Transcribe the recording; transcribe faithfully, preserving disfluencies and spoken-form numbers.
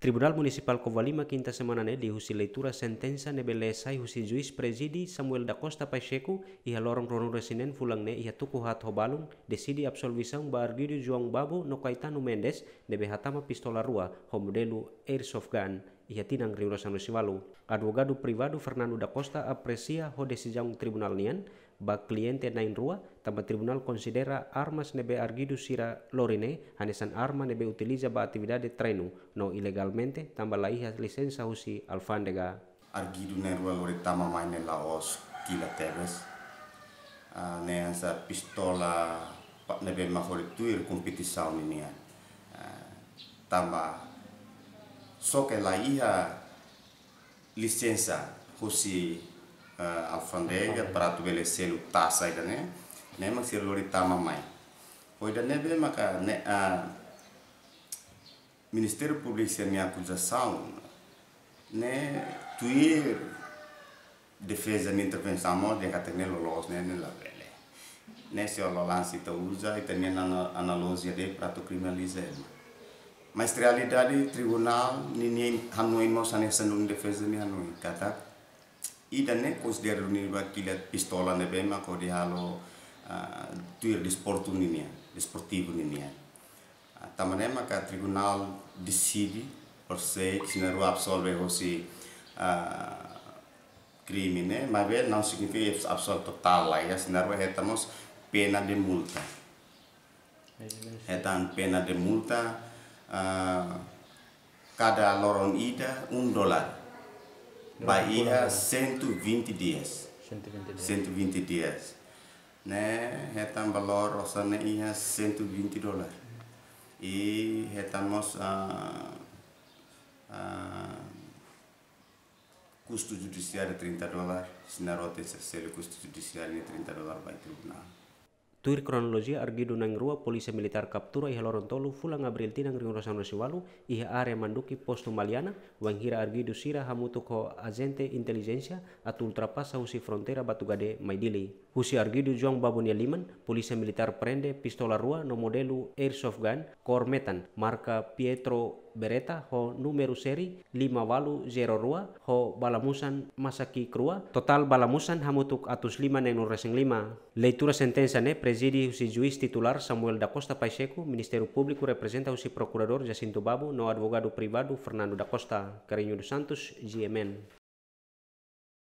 Tribunál Munisipál Covalima kinta semana ne'e liuhusi leitura sentensa ne'ebé lee sai husi juís prezide Samuel da Costa Pacheco iha loron ruanulu-resin-neen fulan ne'e iha tuku haat ho balun, deside absolvisaun ba arguidu João Babo no Caetano Mendes ne'ebé hatama pistola rua ho modelu airsoft gun iha tinan rihun rua sanulu-resin-ualu. Advogadu privadu Fernando da Costa apresia ho desizaun tribunál nian ba kliente na'in-rua, tanba tribunál konsidera armas ne'ebé arguidu sira lori ne'e hanesan arma ne'ebé utiliza ba atividade treinu no ilegalmente tanba la iha lisensa husi alfándega. Arguidu na'in-rua lori tama mai ne'e la'ós kilat tebes. Ah, ne'e hanesan pistola pa-, ne'ebé mak hodi tuir kompetisaun ninian. Ah, tanba só ke la iha lisensa husi, eh, alfándega para atu bele selu tasa ida-ne'e, ne'e mak sira lori tama mai. Ho ida-ne'ebé maka ne'e, ah, Ministériu Públiku sira-nia akuzasaun ne'e tuir defeza nia intervensaun mós dehan katak ne'e loloos ne'e, ne'e labele. Ne'e se o lanse ita uza, ita-nia ana-, analojia de'it para atu kriminaliza ema. Mas realidade tribunál ninia hanoin mós hanesan duni defeza nia hanoin. Katak ida-ne'e konsidera duni ba kilat pistola ne'ebé mak hodi halo, ah, tuir desportu ninian, desportivu ninian. Ah, tanba ne'e maka tribunál deside, persei, sira na'in-rua absolve hosi, ah, krime ne'e, maibé não signifika absolve totál, la iha, sira na'in-rua hetan mós pena de multa. Hetan pena de multa, ah, kada loron ida um dólar. Ba iha cento e vinte dias. Cento e vinte dias. Cento e vinte dias. Ne'e hetan valór osan ne'e iha cento e vinte dólar. I hetan mós, ah, ah, kustu judisiáriu trinta dólar, sira na'in-rua tenke selu kustu judisiáriu ne'e trinta dólar ba iha tribunál. Tuir kronolojia, arguidu na'in-rua Polísia Militár kaptura iha loron tolu fulan Abríl tinan rihun rua sanulu-resin-ualu iha área Manduki, Postu Maliana, wainhira arguidu sira hamutuk ho ajente intelijénsia atu ultrapasa husi fronteira Batugade mai Dili. Husi arguidu João Babo nia liman, Polísia Militár prende pistola rua no modelu airsoft gun kór metan, marka Pietro Beretta ho númeru série lima ualu zero rua ho bala musan masaki krua, totál bala musan hamutuk atus lima neenulu-resin-lima. Leitura sentensa ne'e prezide husi juís titulár Samuel da Costa Pacheco, Ministériu Públiku reprezenta husi Prokuradór Jacinto Babo no advogadu privadu Fernando da Costa. Carreño dos Santos, G M N.